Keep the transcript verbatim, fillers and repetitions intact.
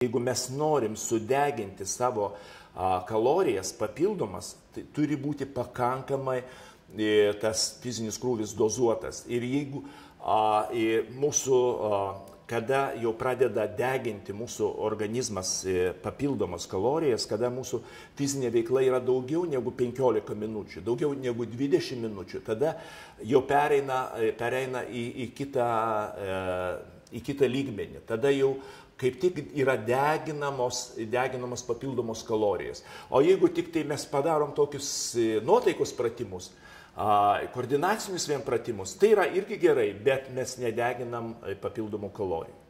Jeigu mes norim sudeginti savo a, kalorijas papildomas, tai turi būti pakankamai e, tas fizinis krūvis dozuotas. Ir jeigu a, e, mūsų, a, kada jau pradeda deginti mūsų organizmas e, papildomas kalorijas, kada mūsų fizinė veikla yra daugiau negu penkiolika minučių, daugiau negu dvidešimt minučių, tada jau pereina, pereina į, į, kitą, e, į kitą lygmenį. Tada jau kaip tik yra deginamos, deginamos papildomos kalorijas. O jeigu tik tai mes padarom tokius nuotaikos pratimus, koordinacinius vien pratimus, tai yra irgi gerai, bet mes nedeginam papildomų kalorijų.